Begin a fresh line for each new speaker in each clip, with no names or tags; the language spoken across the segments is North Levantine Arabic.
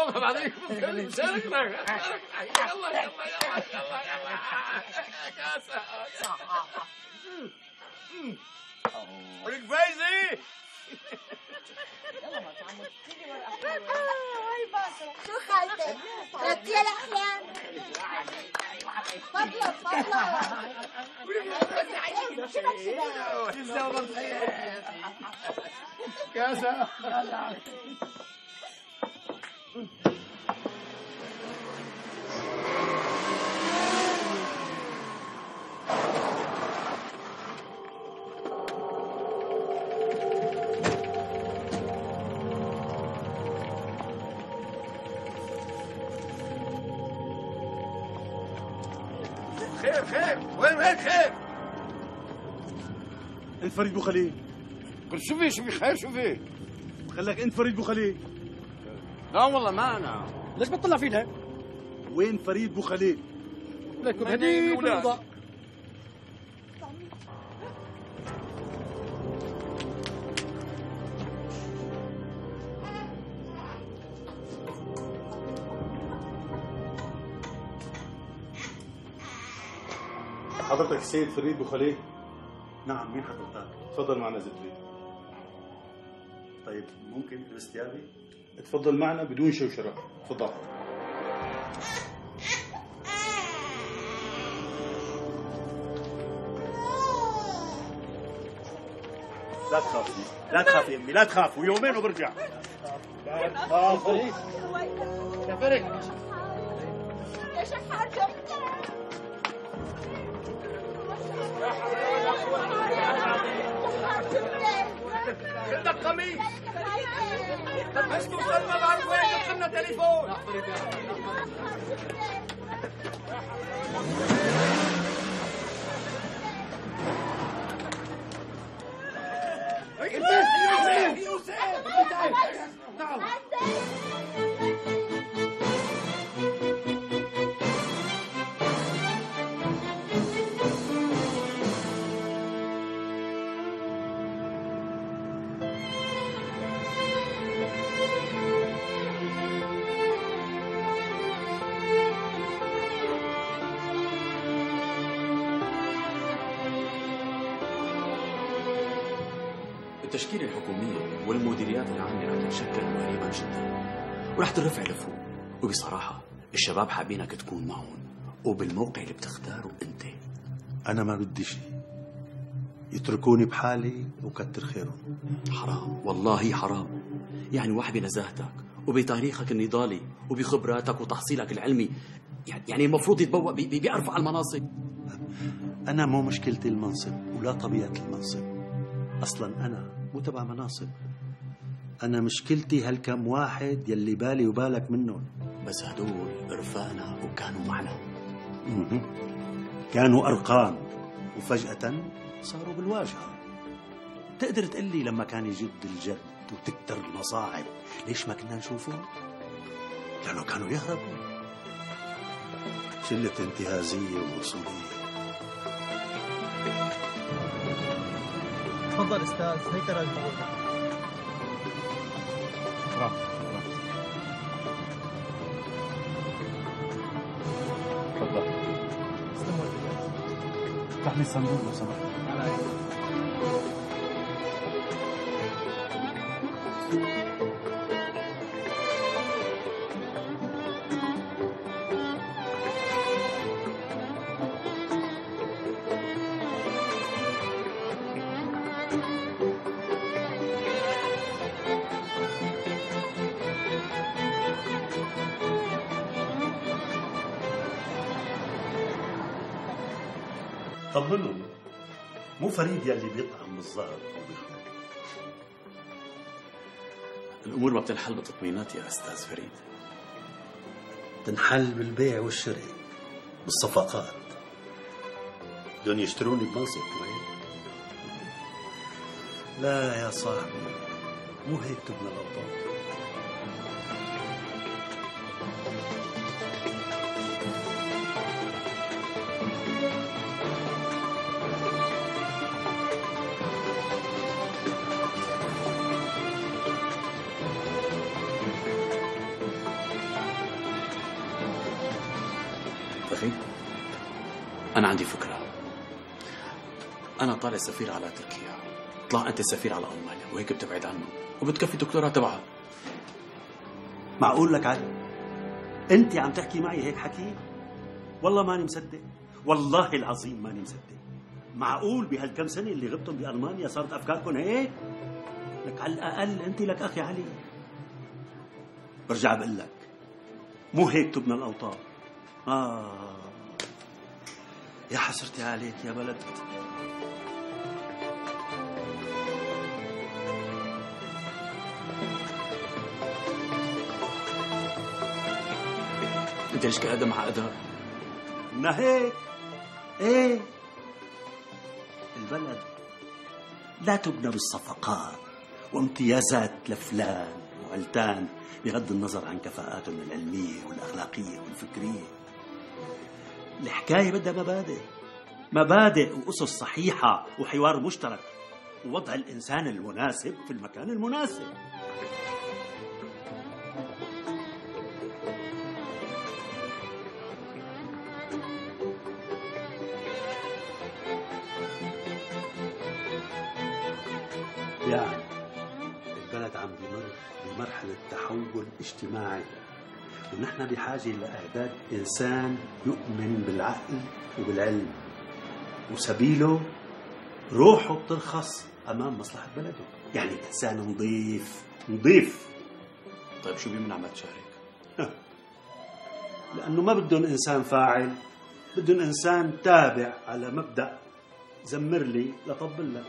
يلا بعدين شاركنا يلا كاسة ولك فايزة
يلا ما تعمل تيجي هاي باسل شو خالتك؟ ربتيها الأحلام؟ فضلك
كاسة خير وين خير؟
انت فريد بو خليل.
قل شو في خير شو في؟
خلك انت فريد بو خليل.
لا والله ما انا.
ليش بتطلع فينا؟ وين فريد بو خليل؟
لكم هدي بالوضع.
حضرتك السيد فريد بو خليل؟ نعم، مين حضرتك؟ تفضل معنا زبدي. طيب ممكن البس ثيابي؟ تفضل معنا بدون شوشرة، تفضل. لا تخافي يا امي، لا تخافوا، يومين وبرجع. لا تخافوا
يا فريد
يا شحات
بدك قميص بس توصل ما بعرف وين دخلنا تليفون
التشكيلة الحكومية والمديريات العامة رح تتشكل قريبا جدا ورح ترفع لفوق، وبصراحة الشباب حابينك تكون معهم وبالموقع اللي بتختاره انت.
انا ما بدي شيء، يتركوني بحالي وكتر خيرهم.
حرام والله حرام، يعني واحد بنزاهتك وبتاريخك النضالي وبخبراتك وتحصيلك العلمي يعني المفروض يتبوأ بأرفع المناصب.
انا مو مشكلتي المنصب ولا طبيعة المنصب، اصلا انا مو تبع مناصب، انا مشكلتي هالكم واحد يلي بالي وبالك منهم.
بس هدول رفقنا وكانوا معنا.
كانوا ارقام وفجأة صاروا بالواجهة. تقدر تقلي لما كان يجد الجد وتكتر المصاعب ليش ما كنا نشوفهم؟ لأنه كانوا يهربوا. شلة انتهازية ووصولية.
تفضل استاذ، هيك راجل.
شكرا. تفضل. افتح لي الصندوق لو سمحت. طمنوا، مو فريد يلي بيطعم بالظهر وبيخرج.
الأمور ما بتنحل بتطمينات يا أستاذ فريد.
تنحل بالبيع والشراء، بالصفقات. بدهم يشتروني بمنصب كمان. لا يا صاحبي، مو هيك تبنى الأوضاع.
أخي أنا عندي فكرة. أنا طالع سفير على تركيا، طلع أنت سفير على ألمانيا وهيك بتبعد عنه وبتكفي الدكتوراه تبعها.
معقول لك علي؟ انت عم تحكي معي هيك حكي؟ والله ماني مصدق، والله العظيم ماني مصدق. معقول بهالكم سنة اللي غبتم بألمانيا صارت أفكاركم هيك؟ لك على الأقل أنت لك أخي علي. برجع بقول لك مو هيك تبنى الأوطان. يا حسرتي عليك يا بلد.
أنت ليش قاعد معقدة؟
إنها هيك. إيه البلد لا تبنى بالصفقات وامتيازات لفلان وعلتان بغض النظر عن كفاءاتهم العلمية والأخلاقية والفكرية. الحكاية بدها مبادئ وأسس صحيحة وحوار مشترك ووضع الإنسان المناسب في المكان المناسب. يعني البلد عم بمر بمرحلة تحول اجتماعي، ونحن بحاجة لإعداد إنسان يؤمن بالعقل وبالعلم، وسبيله روحه بترخص أمام مصلحة بلده. يعني إنسان نظيف.
طيب شو بيمنع ما تشارك؟
لأنه ما بدهم إنسان فاعل، بدهم إنسان تابع على مبدأ زمر لي لطبل لك.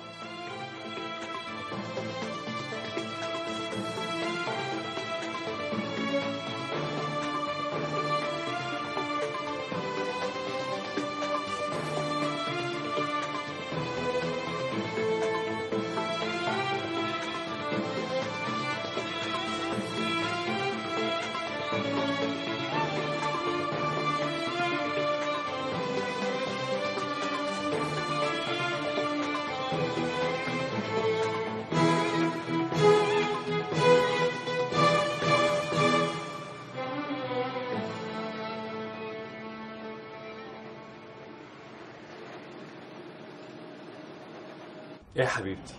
يا حبيبتي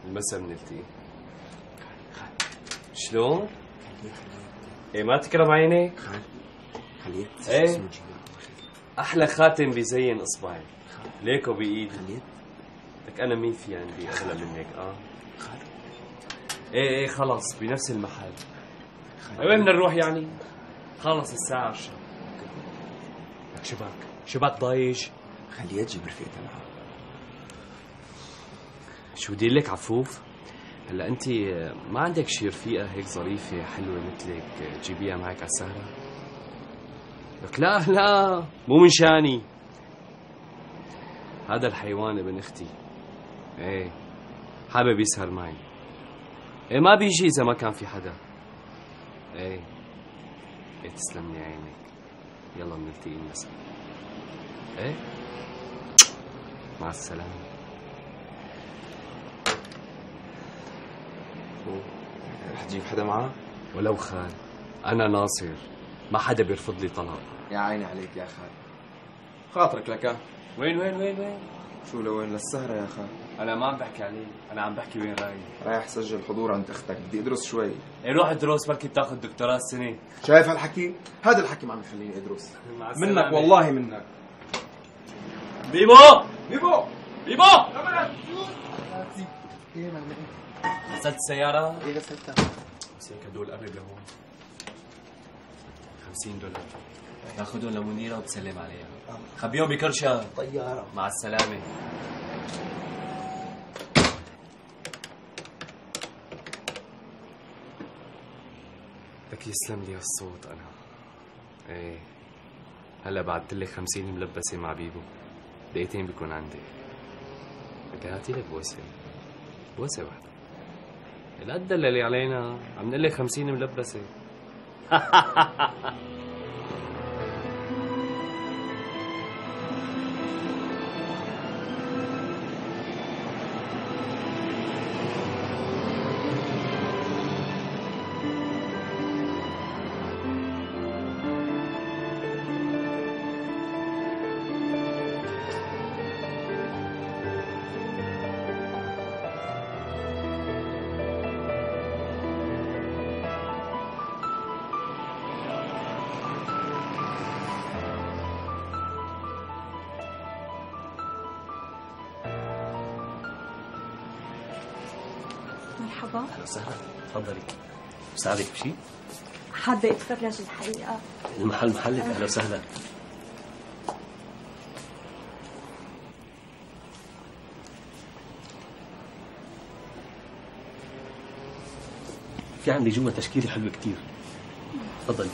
المسا بنلتقي. شلون؟ ايه ما تكرم عينيك؟ ايه احلى خاتم بيزين اصبعي ليكو بايدي. لك انا مين في عندي اغلى منك؟ ايه خلص بنفس المحل. وين بدنا نروح يعني؟ خلص الساعة 10. لك شباك ضايج.
خليها تجيب رفيقتها معها.
شو بدي لك عفوف؟ هلا انت ما عندك شي رفيقه هيك ظريفه حلوه مثلك تجيبيها معك على السهره؟ لك لا مو من شاني. هذا الحيوان ابن اختي، ايه حابب يسهر معي. ايه ما بيجي اذا ما كان في حدا. ايه تسلم لي عينك. يلا بنلتقي المساء. ايه مع السلامه.
رح تجيب حدا معاه؟
ولو خال، أنا ناصر، ما حدا بيرفض لي طلاق.
يا عيني عليك يا خال، خاطرك لك.
وين؟
شو لوين؟ للسهرة يا خال.
أنا ما عم بحكي عليه، أنا عم بحكي وين رايح.
رايح سجل حضور عند أختك، بدي أدرس شوي.
إيه روح ادرس بركي بتاخذ دكتوراه السنة.
شايف هالحكي؟ هذا الحكي ما عم يخليني أدرس. منك والله منك.
بيبو غسلت السيارة؟
ايه غسلتها.
بس هيك هدول قرب لهون. $50 تاخذهم لمنيرة وتسلم عليها. خبيهم بكرشة.
طيارة.
مع السلامة. لك يسلم لي هالصوت أنا. إيه هلا بعدت لك 50 ملبسة مع بيبو، دقيقتين بيكون عندي. لك هاتي لك بوسة واحدة. القد اللي علينا عم نقول لك 50 ملبسة.
مرحبا.
أهلا وسهلا، تفضلي. بساعدك بشيء؟
حابة اتفرج الحقيقة.
المحل محلك، أهلا وسهلا. في عندي جوا تشكيلة حلوة كتير، تفضلي.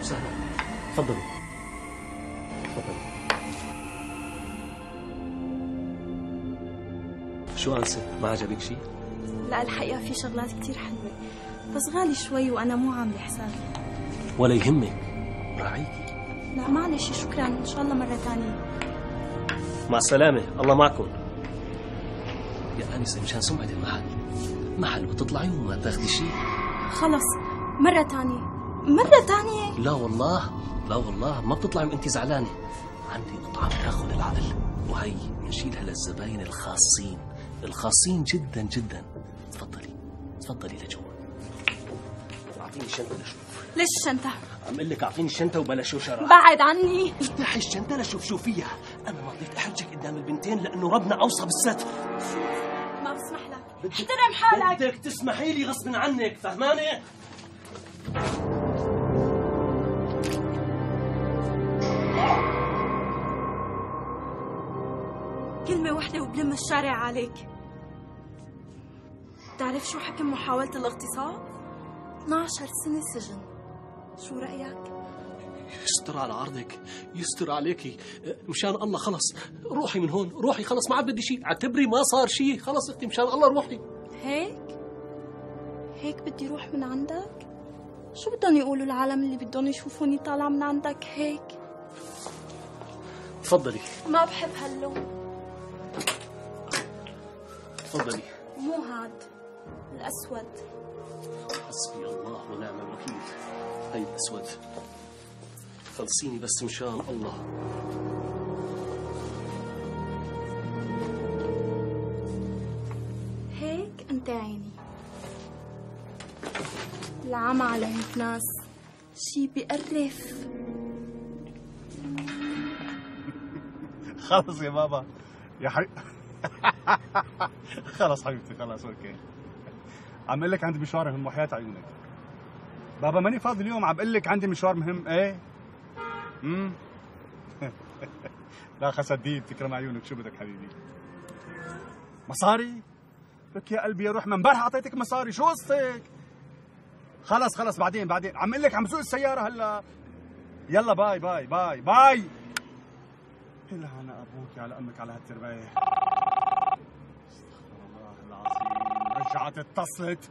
وسهلا، تفضلي تفضلي. شو أنسة؟ ما عجبك شيء؟
لا الحقيقة في شغلات كتير حلوة بس غالي شوي وأنا مو عاملة حسابي.
ولا يهمك، راعيكي.
لا معلش شكرا، إن شاء الله مرة تانية.
مع السلامة، الله معكم. يا أنسة مشان سمعة المحل، محل وتطلعي وما تاخدي شيء.
خلص مرة تانية، مرة تانية.
لا والله، لا والله ما بتطلعي وانت زعلانة. عندي قطعة بتاخذ العقل، وهي بنشيلها للزباين الخاصين، الخاصين جدا جدا. تفضلي تفضلي لجوا. اعطيني الشنطة لشوف.
ليش الشنطة؟
عم اقول لك اعطيني الشنطة وبلا شوشرة.
بعد عني.
افتحي الشنطة لشوف شو فيها. انا ما رضيت احرجك قدام البنتين لانه ربنا اوصى بالستر.
ما بسمح لك، احترم حالك.
بدك تسمحي لي غصب عنك، فهمانة؟
كلمة واحدة وبلم الشارع عليك. بتعرف شو حكم محاولة الاغتصاب؟ 12 سنة سجن. شو رأيك؟
يستر على عرضك، يستر عليكي، مشان الله خلص روحي من هون، روحي خلص ما عاد بدي شيء، اعتبري ما صار شيء، خلص اختي مشان الله روحي.
هيك بدي روح من عندك؟ شو بدهم يقولوا العالم اللي بدهم يشوفوني طالعة من عندك هيك؟
تفضلي.
ما بحب هاللون.
تفضلي.
مو هاد الأسود.
حسبي الله ونعم الوكيل. هي الأسود. خلصيني بس مشان الله.
هيك انت عيني. العمى على هيك ناس شي بيقرف.
خلص يا بابا يا حبيبي. خلص حبيبتي خلص اوكي. عم اقول لك عندي مشوار مهم وحياة عيونك. بابا ماني فاضي اليوم، عم اقول لك عندي مشوار مهم. ايه لا خسدين تكرم عيونك. شو بدك حبيبي؟ مصاري؟ لك يا قلبي يا روح، من امبارح اعطيتك مصاري، شو قصتك؟ خلص بعدين عم اقول لك عم سوق السيارة هلا. يلا باي باي باي باي. إلا أنا أبوك على أمك على هالترباية. استغفر الله العظيم، رجعت اتصلت.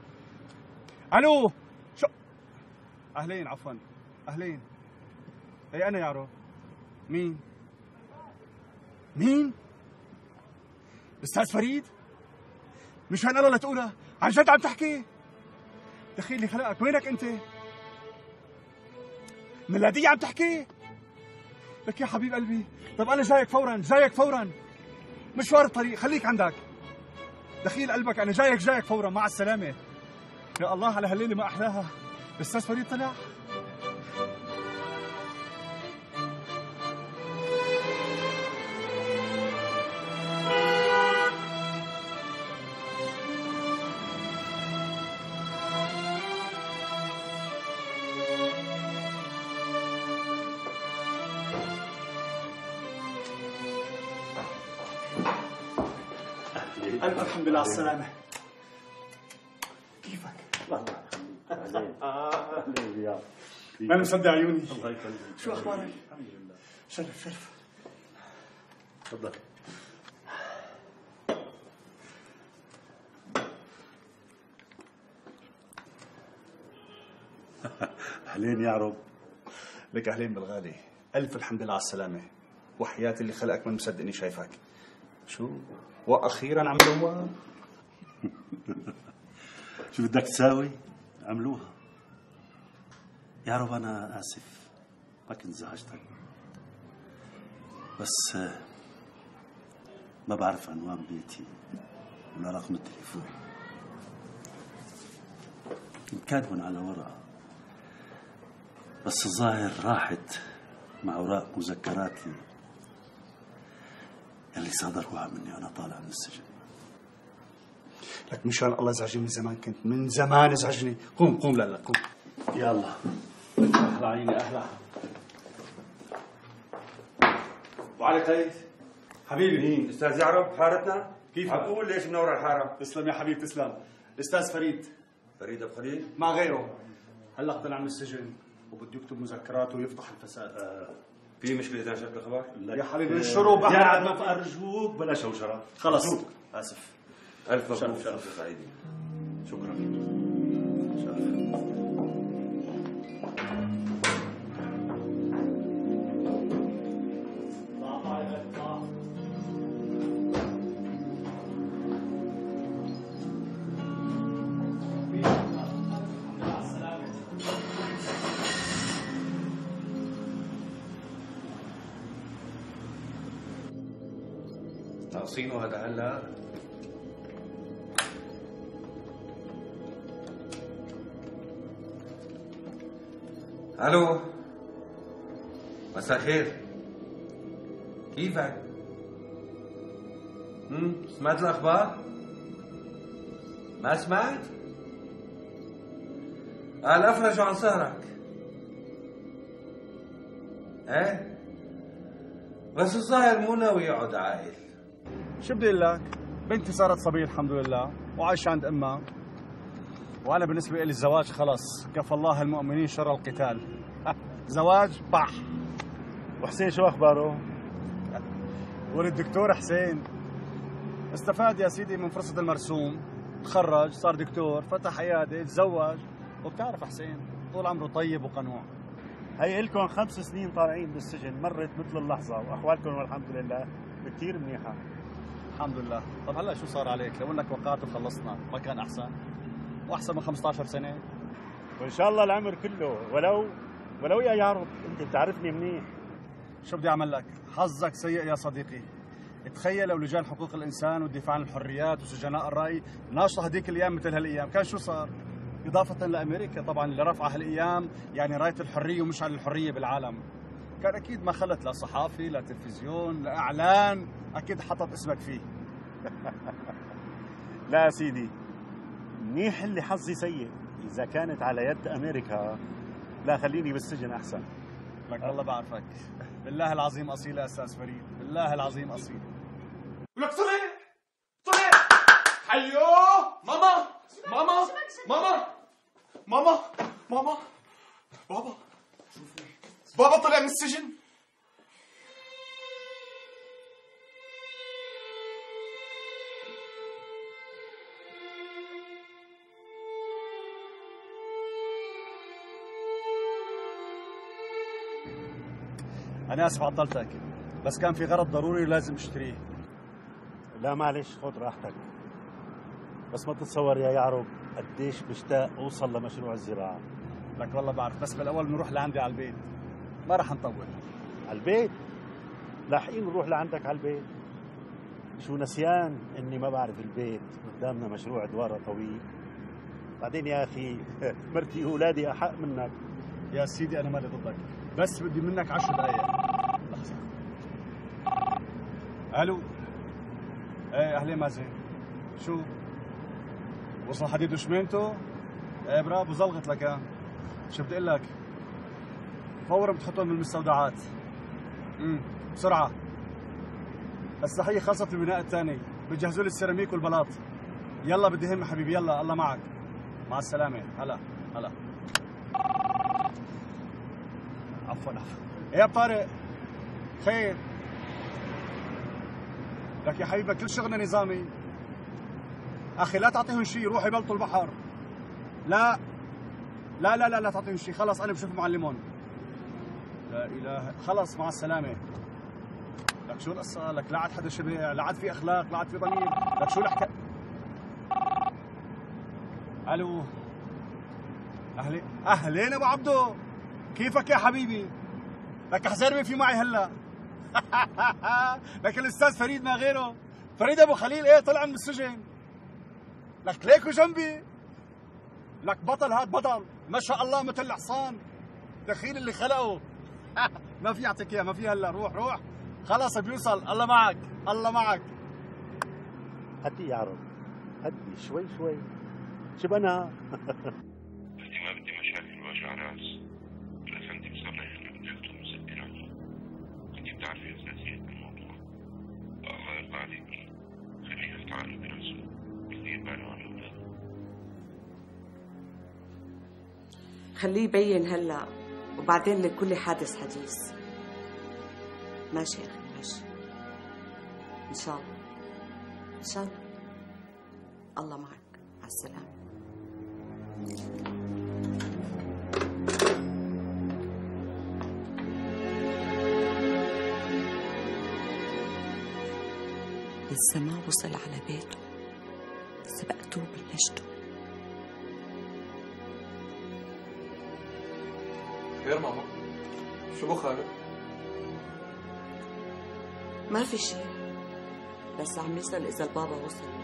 ألو شو؟ أهلين عفوا أهلين. أي أنا يارو. مين؟ أستاذ فريد؟ مشان الله لا تقولها، عن جد عم تحكي؟ دخيلي خلقك، وينك أنت؟ ميلادية عم تحكي؟ لك يا حبيب قلبي، طب أنا جايك فورا، مشوار الطريق، خليك عندك. دخيل قلبك، أنا جايك فورا، مع السلامة. يا الله على هالليلة ما أحلاها. الأستاذ فريد طلع. ألف الحمد لله على السلامة. كيفك؟ أهلين. ما أنا مصدق عيوني. الله يخليك. شو أخبارك؟ الحمد لله. شرف.
تفضل. أهلين يا عرب.
لك أهلين بالغالي، ألف الحمد لله على السلامة، وحياتي اللي خلقك من مصدقني شايفك. شو؟ وأخيرا عملوها.
شو بدك تساوي؟ عملوها. يا عرب أنا آسف ما كنت زعجتك، بس ما بعرف عنوان بيتي ولا رقم التليفون. كنت كاتبهم على ورقة، بس الظاهر راحت مع أوراق مذكراتي اللي صادروها مني وأنا طالع من السجن.
لك مشان الله ازعجني من زمان، كنت من زمان ازعجني. قوم قوم، لا قوم.
يلا أهلا عيني أهلا.
وعلي قيد حبيبي.
مين؟ استاذ يعرب حارتنا؟
كيف
عقول ليش منور الحاره؟
تسلم يا حبيبي تسلم. الاستاذ فريد.
فريد ابو خليل؟
مع غيره هلا طلع من السجن وبده يكتب مذكراته ويفضح الفساد.
في مشكله اذا نشرت الخبر؟
يا حبيبي انشروا بقى.
يا عم أرجوك بلا شوشرة.
خلص
آسف.
الف مبروك.
شرف
سعيدين.
شكرا.
ناقصينه هذا هلا. الو، مساء الخير، كيفك؟ سمعت الاخبار؟ ما سمعت؟ قال افرجوا عن سهرك. ايه بس الظاهر مو ناوي يقعد عاقل.
شو بدي اقول لك؟ بنتي صارت صبية الحمد لله وعايشة عند امها، وانا بالنسبة لي الزواج خلص كفى الله المؤمنين شر القتال. زواج بح.
وحسين شو أخباره؟
ولد الدكتور حسين استفاد يا سيدي من فرصة المرسوم، تخرج صار دكتور، فتح عيادة، تزوج، وبتعرف حسين طول عمره طيب وقنوع.
هي إلكم 5 سنين طالعين بالسجن، مرت مثل اللحظة، وأحوالكم والحمد لله كثير منيحة.
الحمد لله. طب هلا شو صار عليك؟ لو انك وقعت وخلصنا ما كان احسن؟ واحسن من 15 سنة.
وإن شاء الله العمر كله، ولو يا يارب أنت بتعرفني منيح.
شو بدي أعمل لك؟ حظك سيء يا صديقي. تخيل لو لجان حقوق الإنسان والدفاع عن الحريات وسجناء الرأي ناشطة هذيك الأيام مثل هالأيام، كان شو صار؟ إضافة لأمريكا طبعا اللي رفع هالأيام يعني راية الحرية ومشعل الحرية بالعالم، كان أكيد ما خلت لا صحافي لا تلفزيون لا إعلان أكيد حطت اسمك فيه.
لا سيدي، منيح اللي حظي سيء. إذا كانت على يد أمريكا لا خليني بالسجن أحسن.
لك والله بعرفك، بالله العظيم أصيل يا أستاذ فريد، بالله العظيم أصيل.
لك صلي حيو ماما ماما ماما ماما ماما بابا طلع من السجن.
أنا آسف عطلتك، بس كان في غرض ضروري لازم اشتريه.
لا معلش خذ راحتك، بس ما تتصور يا يعرب قديش مشتاق أوصل لمشروع الزراعة.
لك والله بعرف، بس بالأول بنروح لعندي على البيت، ما رح نطول.
على البيت؟ لاحقين نروح لعندك على البيت؟ شو نسيان إني ما بعرف البيت، قدامنا مشروع دوارة طويل. بعدين يا أخي مرتي وأولادي أحق منك.
يا سيدي أنا مالي ضدك، بس بدي منك 10 دقايق. لحظة. ألو. ايه أهلين مازن. شو؟ وصل حديد وشمينته؟ ايه برافو زلغت لك. شو بدي اقول لك؟ فورا بتحطهم بالمستودعات. بسرعة. الصحية خلصت البناء الثاني، بتجهزوا لي السيراميك والبلاط. يلا بدي هم حبيبي، يلا الله معك. مع السلامة. هلا. عفوا. ايه يا طارق. خير. لك يا حبيبي كل شغلنا نظامي. اخي لا تعطيهم شيء، روحوا يبلطوا البحر. لا لا لا لا لا تعطيهم شيء، خلص انا بشوف معلمون. لا اله، خلص مع السلامه. لك شو القصه؟ لك لا عاد حدا شبع، لا عاد في اخلاق، لا عاد في ضمير، لك شو الحكايه؟ الو، اهلين ابو عبدو، كيفك يا حبيبي؟ لك احزر في معي هلا. لك الاستاذ فريد ما غيره، فريد ابو خليل ايه طلع من السجن. لك ليكو جنبي. لك بطل، هاد بطل ما شاء الله مثل الحصان، دخيل اللي خلقه. ما في يعطيك اياه، ما في هلا، روح خلص بيوصل. الله معك، الله معك.
هدي يا عرب، هدي شوي شوي. شو بنا؟
بدي ما بدي مشاكل ووجع راس. الافندي مصرح انه بده يخطب مسكر عليه. انت بتعرفي اساسيات الموضوع. الله يرضى عليكي، خليه يفتح بنفسه، يدير باله عن اولاده.
خليه يبين هلا وبعدين لكل حادث حديث. ماشي يا اخي ماشي، ان شاء الله ان شاء الله. الله معك، مع السلامه. لسه ما وصل على بيته، سبقته وبلشته.
خير ماما؟ شو بخارك؟
ما في شيء، بس عم يسأل إذا البابا وصل.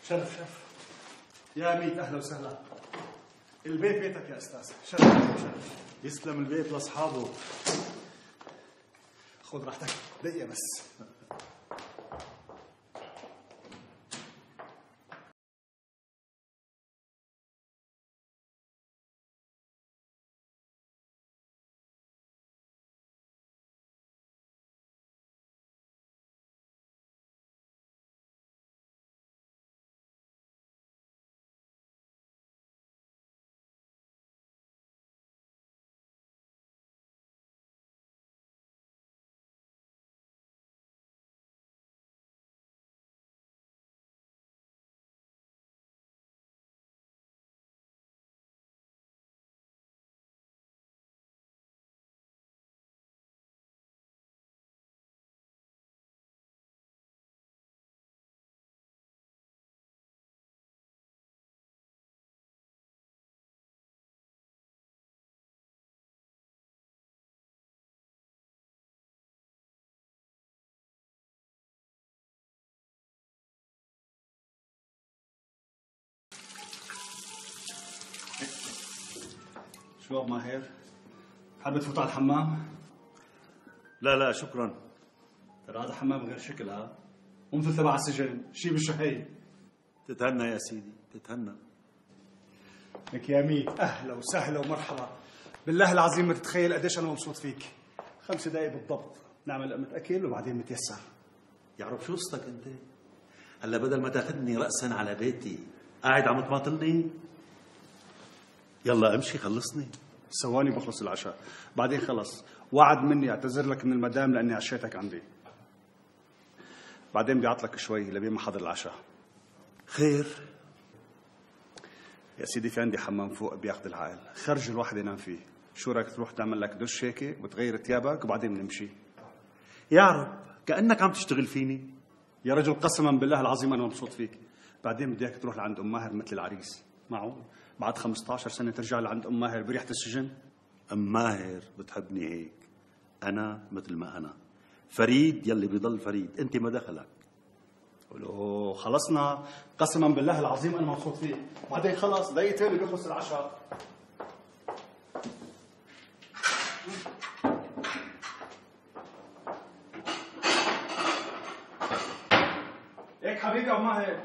شرف يا ميت، اهلا وسهلا. البيت بيتك يا استاذ. شرف.
يسلم البيت لاصحابه.
خذ راحتك دقيقه بس. شو ابو ماهر؟ حابب تفوت على الحمام؟
لا شكرا.
ترى هذا حمام غير شكل، ها؟ ومثل تبع السجن، شي بالشهي.
تتهنى يا سيدي، تتهنى.
لك يا ميت، اهلا وسهلا ومرحبا. بالله العظيم ما تتخيل قديش انا مبسوط فيك. 5 دقايق بالضبط نعمل لقمة اكل وبعدين متيسر.
يعرف شو قصتك انت؟ هلا بدل ما تاخذني رأسا على بيتي قاعد عم تماطلني. يلا امشي خلصني.
ثواني بخلص العشاء، بعدين خلص. وعد مني اعتذر لك من المدام لاني عشيتك عندي. بعدين بدي اعطلك شوي لبين ما حضر العشاء.
خير
يا سيدي، في عندي حمام فوق بياخذ العقل، خرج الواحد ينام فيه. شو رايك تروح تعمل لك دش هيك وتغير ثيابك وبعدين بنمشي؟
يا رب كأنك عم تشتغل فيني.
يا رجل قسما بالله العظيم انا مبسوط فيك. بعدين بدي اياك تروح لعند ام ماهر مثل العريس. معقول بعد 15 سنه ترجع لعند ام ماهر بريحه السجن؟
ام ماهر بتحبني هيك، أنا مثل ما أنا، فريد يلي بيضل فريد، أنت ما دخلك. ولو خلصنا قسما بالله العظيم أنا مبسوط فيه، بعدين خلص دقيقتين بيخلص العشاء. هيك حبيبي أو ما هيك؟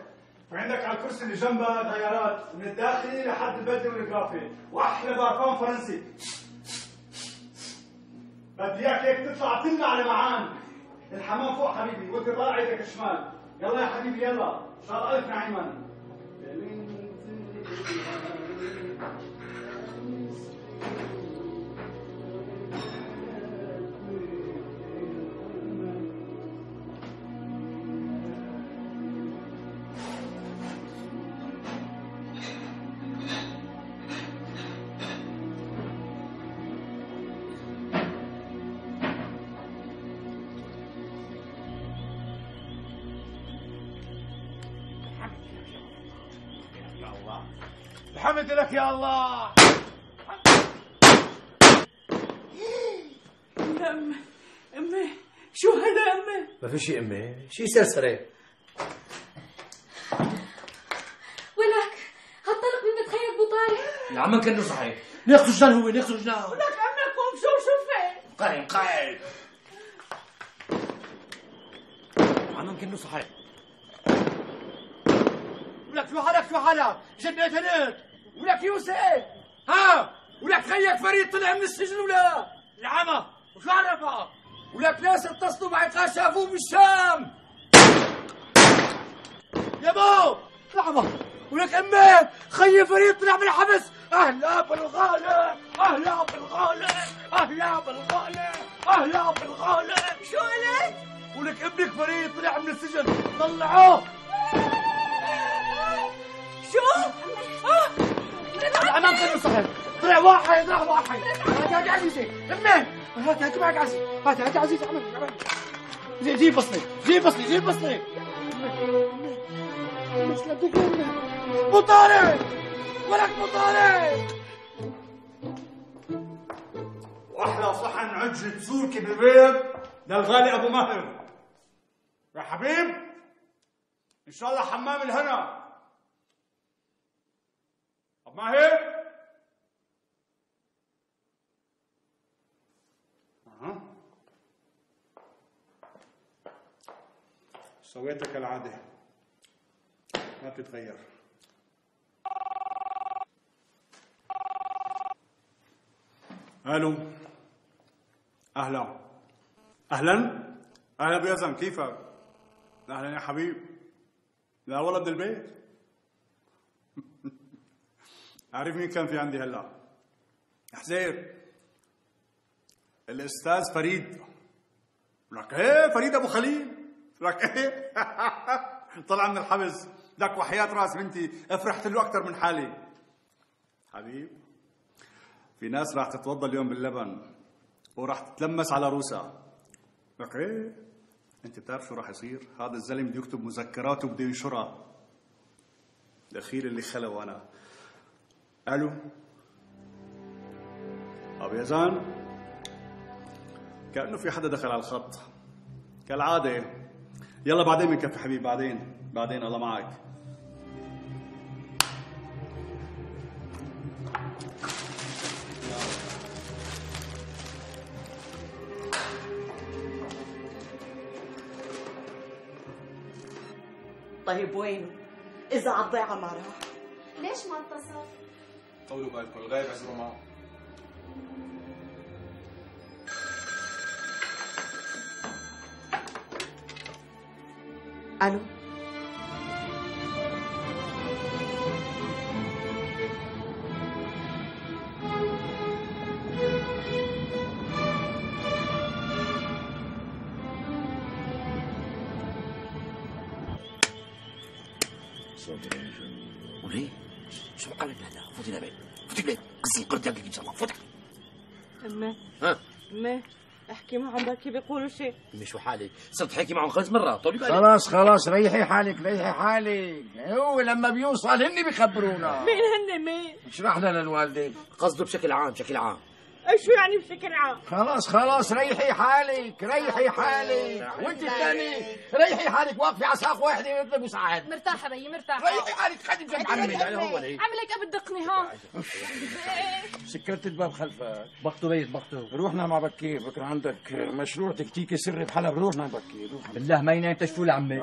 في عندك على الكرسي اللي جنبها غيارات من الداخلي لحد البدري والإضافي، وأحلى بارفان فرنسي. بدي إياك هيك تطلع تمنع على معان. الحمام فوق حبيبي، وأنت طالع ايدك الشمال. يلا يا حبيبي يلا، إن شاء الله ألف نعيما.
الحمد لك يا الله.
يا أمي شو هذا يا أمي؟
ما في شيء أمي، شيء سرسرة.
ولك هالطلق من بتخيل ابو طارق.
يا عم كأنه صحيح، ناخذ جنان هو ناخذ جنان.
ولك أمي قوم شوفي.
قايم عم كأنه صحيح.
ولك شو حالك؟ جنيت هنيك. ولك يوسف ها؟ ولك خيك فريد طلع من السجن ولا؟ العمى وشو عرفك؟ ولك ناس اتصلوا بعقال شافوه بالشام. يا بو العمى. ولك امي خي فريد طلع من الحبس. اهلا بالغالب اهلا بالغالب اهلا بالغالب اهلا بالغالب.
شو قلت؟
ولك ابنك فريد طلع من السجن طلعوه.
شو؟
الأمام كله صحيح. طلع واحد راح واحد. هات عزيزي امي هات معك عزيزي. هات عزيزي عمل جيب بصلي جيب بصلي. مسلمتك يا امي. ابو طارق ولك ابو طارق. واحلى صحن عجة سوركي بالبيت للغالي ابو ماهر. يا حبيب ان شاء الله حمام الهنا. ابو ماهر سويتك كالعادة ما بتتغير. الو اهلا ابو يزن كيفك؟ اهلا يا حبيب. لا والله من البيت. عارف مين كان في عندي هلا؟ حزير الاستاذ فريد. لك ايه فريد ابو خليل. لك ايه طلع من الحبس. لك وحياة راس بنتي افرحت له اكثر من حالي. حبيب في ناس راح تتوضا اليوم باللبن وراح تتلمس على روسها. لك ايه انت بتعرف شو راح يصير؟ هذا الزلم بده يكتب مذكرات وبده ينشرها. الاخير اللي خلوا انا. الو ابو يزان كأنه في حدا دخل على الخط كالعادة. يلا بعدين بنكفي حبيبي. بعدين الله معك.
طيب وينه؟ إذا على الضيعة ما راح.
ليش ما اتصل؟
طولوا بالكم الغايب عزموا معه.
الو
وليه؟ شو بقى لك هلا؟ فوتي لبيت قصي قرد ان شاء الله. فوتي.
امي احكي معهم بركي بيقولوا شيء.
امي شو حالك؟ صرت حكي معهم 5 مرات. طولي بالك.
خلاص ريحي حالك. هو لما بيوصل هن بيخبرونا.
مين؟
اشرح لنا الوالدين.
قصده بشكل عام
شو يعني بشكل عام؟
خلاص ريحي حالك وانت الثاني ريحي حالك واقفه على ساق واحده يطلب مساعد.
مرتاحة بيي مرتاحة.
ريحي حالك خدي بجنب عمي.
عملك قبل دقني ها.
سكرت الباب خلفك. بخته بيت روحنا مع بكير، بكره عندك مشروع تكتيكي سري بحلب. روحنا بكير
بالله ما ينام تشفوا لعمي.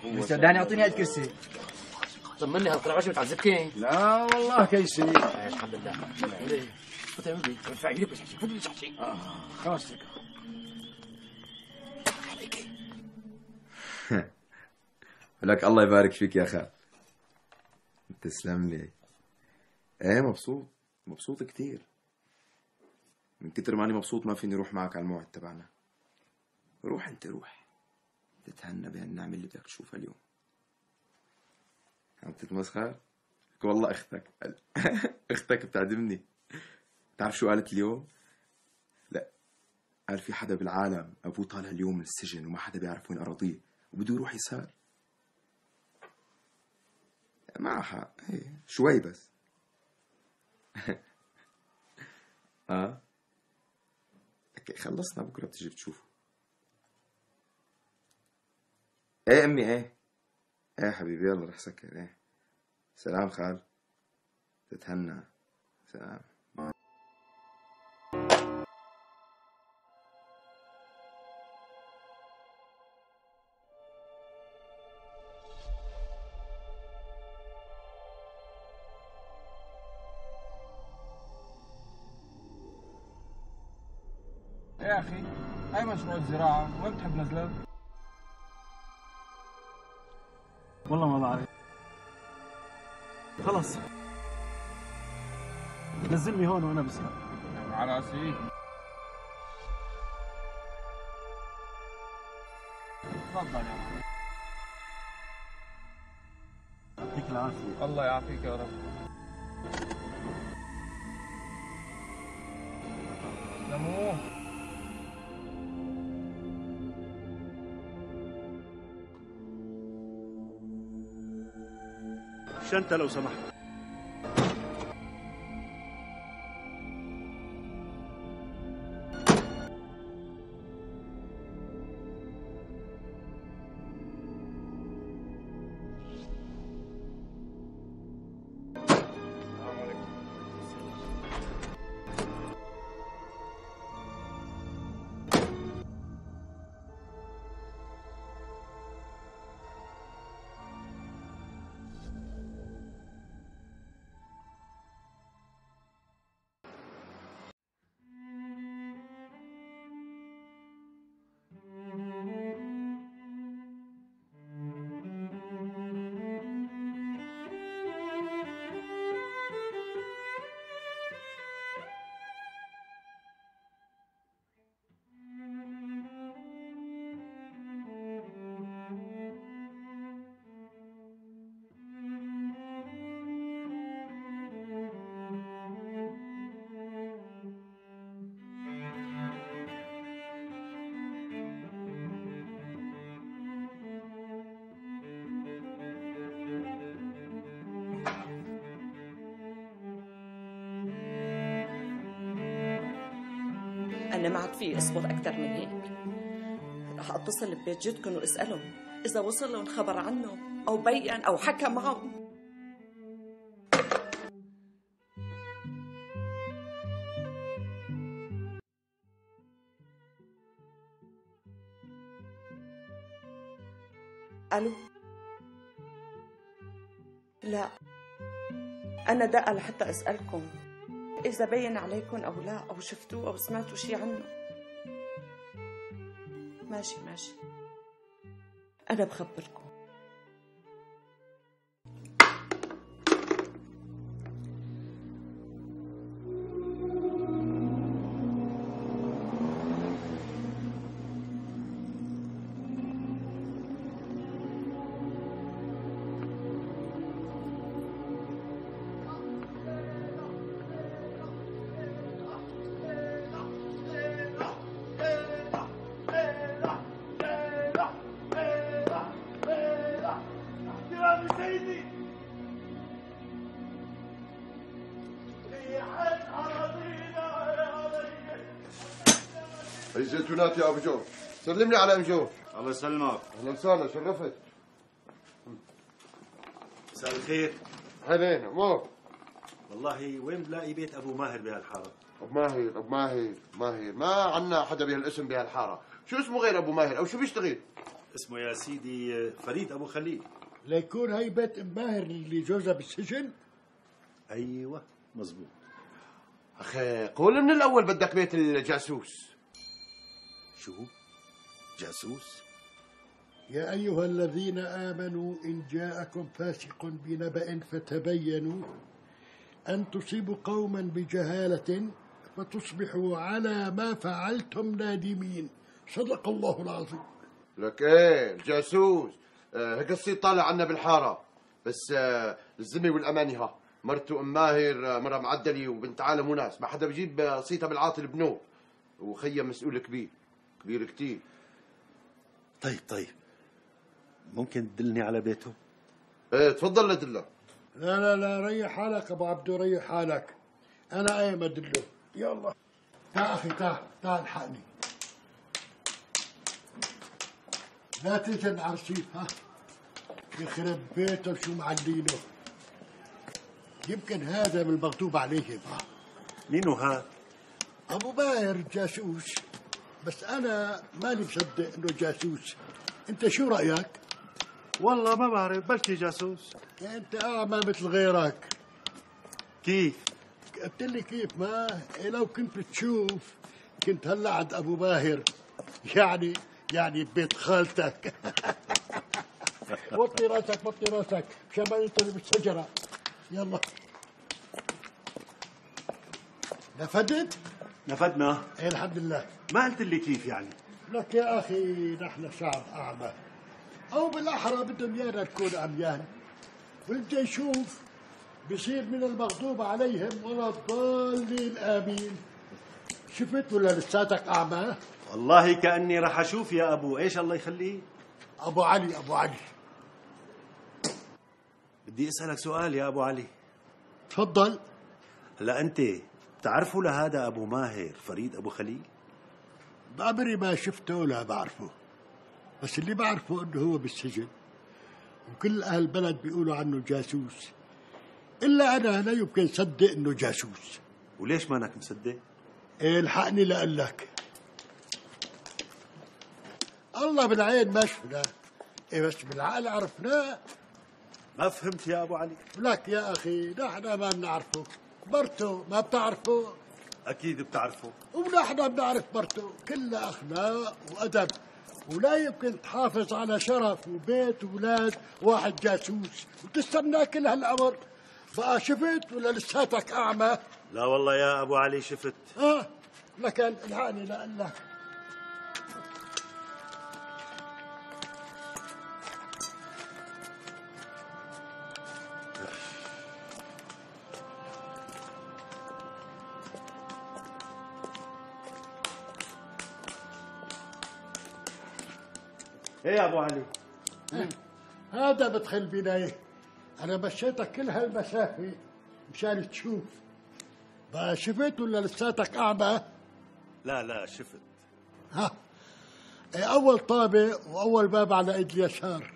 مستداني اعطيني هاد كرسي.
طمني هالقرعه شو بتعذبكي؟
لا والله كيسي.
الحمد لله.
ارفع ايدك بس فضل شحشي. خلاص
لك الله يبارك فيك يا خال. تسلم لي. ايه مبسوط كتير. من كتر ماني مبسوط ما فيني اروح معك على الموعد تبعنا. روح انت روح تتهنى بهالنعمة اللي بدك تشوفها اليوم. عم تتمسخر؟ والله اختك بتعدمني. تعرف شو قالت اليوم؟ لا، قال في حدا بالعالم ابوه طالع اليوم من السجن وما حدا بيعرف وين اراضيه وبده يروح يسار. معها حق، شوي بس. خلصنا بكره بتجي بتشوفه. ايه امي ايه حبيبي يلا رح سكر. سلام خال، تتهنى. سلام.
يا اخي هاي مشروع الزراعة، وين بتحب نزله؟ والله ما بعرف. خلص نزلني هون وانا بسحب. على راسي. تفضل يا معلم. يعطيك العافية. الله يعافيك يا رب. سموه.
شنطة لو سمحت.
أنا ما عاد في أصبر أكثر من هيك. رح أتصل ببيت جدكم وأسألهم إذا وصل لهم خبر عنه أو بيّن أو حكى معهم. ألو؟ لا، أنا دقة لحتى أسألكم إذا بين عليكم أو لا، أو شفتوه أو سمعتوا شي عنه. ماشي أنا بخبركم.
الزيتونات يا ابو جو. سلم لي على ام جو.
الله يسلمك.
اهلا وسهلا، شرفت.
مساء الخير.
اهلين امور.
والله وين بلاقي بيت ابو ماهر بهالحاره؟
ابو ماهر ما عنا حدا بهالاسم بهالحاره. شو اسمه غير ابو ماهر او شو بيشتغل؟
اسمه يا سيدي فريد ابو خليل.
ليكون هي بيت ام ماهر اللي جوزها بالسجن؟
ايوه مزبوط.
اخي قول من الاول بدك بيت الجاسوس.
شو؟ جاسوس؟
يا أيها الذين آمنوا إن جاءكم فاسق بنبأ فتبينوا أن تصيبوا قوما بجهالة فتصبحوا على ما فعلتم نادمين. صدق الله العظيم.
لك ايه الجاسوس هيك الصيت طالع عنا بالحاره، بس الذمه والامانه ها مرته ام ماهر مره معدله وبنت عالم وناس، ما حدا بجيب صيتها بالعاطل بنوب، وخيا مسؤول كبير كتير.
طيب ممكن تدلني على بيته؟
ايه تفضل لدلك.
لا ريح حالك ابو عبدو، ريح حالك، انا قايم ادله. يلا تعال اخي، تعال الحقني، لا تجن عرسيف. ها يخرب بيته شو معلينه. يمكن هذا من المغضوب عليهم.
مينو هذا؟
ابو ماهر جاسوس، بس انا ماني مصدق انه جاسوس. انت شو رايك؟
والله ما بعرف، بلكي جاسوس.
انت اعمى مثل غيرك.
كيف؟
قلت لي كيف؟ ما لو كنت تشوف كنت هلا عند ابو ماهر، يعني ببيت خالتك. وطي راسك مشان ما ينطلي بالشجره. يلا نفدت؟
نفدنا.
ايه الحمد لله.
ما قلت لي كيف يعني؟
لك يا اخي نحن شعب اعمى، او بالاحرى بدهم ايانا نكون عميان، واللي يشوف بصير من المغضوب عليهم ولا الضالين امين. شفت ولا لساتك اعمى؟
والله كاني راح اشوف يا ابو ايش الله يخليه.
ابو علي
بدي اسالك سؤال يا ابو علي.
تفضل.
هلا انت بتعرفوا لهذا ابو ماهر فريد ابو خليل؟
بعمري ما شفته ولا بعرفه، بس اللي بعرفه انه هو بالسجن، وكل اهل البلد بيقولوا عنه جاسوس، الا انا لا يمكن صدق انه جاسوس.
وليش مانك مصدق؟
ايه الحقني لاقول لك. الله بالعين ما شفناه، ايه بس بالعقل عرفناه.
ما فهمت يا ابو علي.
لك يا اخي نحن ما بنعرفه، مرته ما بتعرفه؟
اكيد بتعرفه.
ونحن بنعرف مرته، كلها اخلاق وادب، ولا يمكن تحافظ على شرف وبيت وولاد واحد جاسوس وتستنى كل هالامر. بقى شفت ولا لساتك اعمى؟
لا والله يا ابو علي شفت.
لكن الحقني لاقول لك.
ايه يا ابو علي؟
هذا بدخل بنايه، انا مشيتك كل هالمسافه مشان تشوف. بقى شفت ولا لساتك اعمى؟
لا شفت.
اول طابق واول باب على ايد اليسار.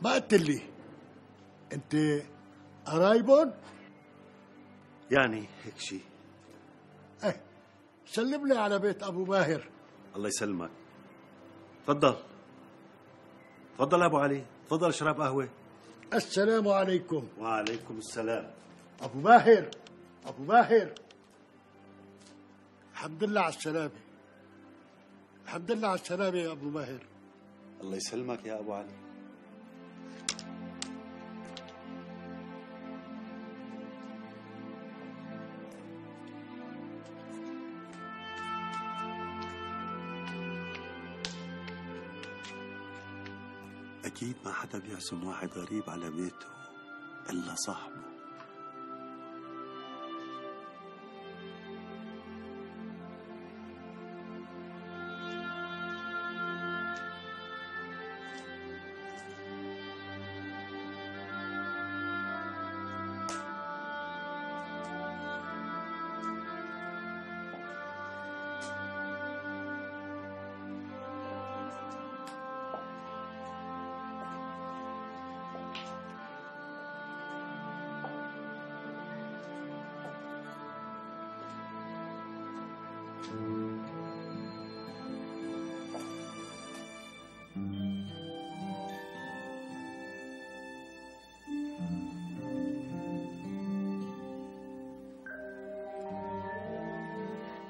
ما قلت لي انت قرايبهم؟
يعني هيك شيء.
سلم لي على بيت ابو ماهر.
الله يسلمك. تفضل ابو علي، تفضل اشرب قهوه.
السلام عليكم.
وعليكم السلام.
ابو ماهر الحمد لله على السلامه. الحمد لله على السلامه يا ابو ماهر.
الله يسلمك يا ابو علي. أكيد ما حدا بيعزم واحد غريب على بيته إلا صاحبه.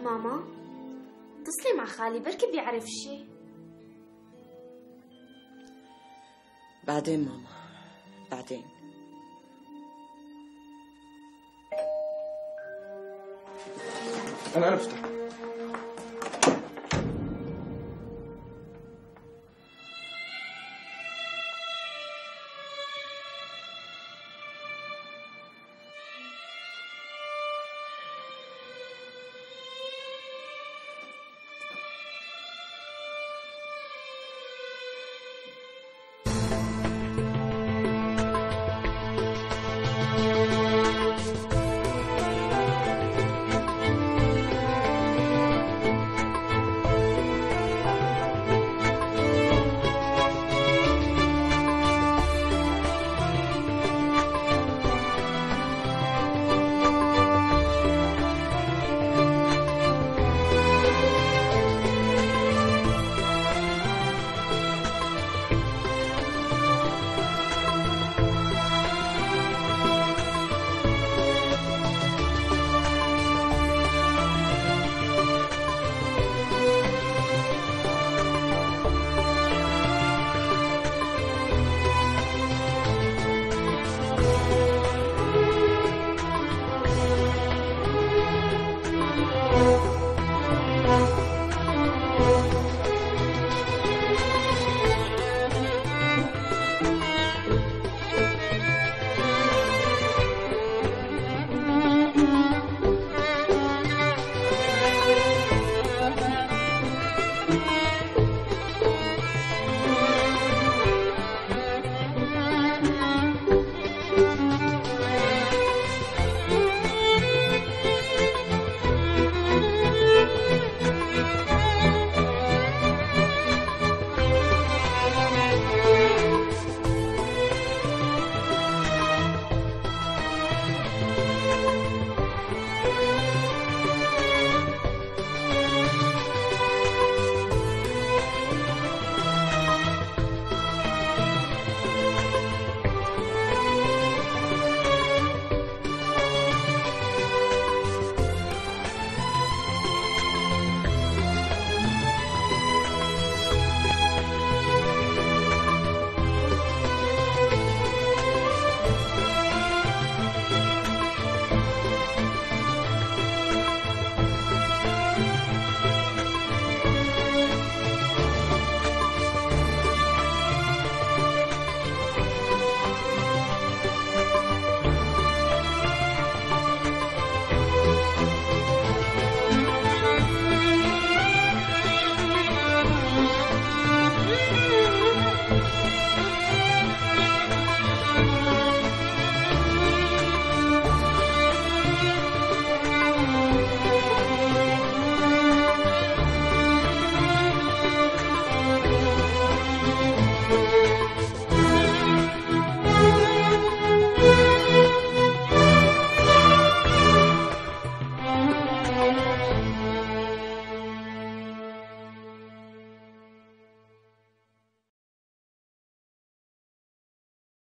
ماما اتصلي مع خالي بركي بيعرف شي.
بعدين ماما، بعدين.
انا بفتح.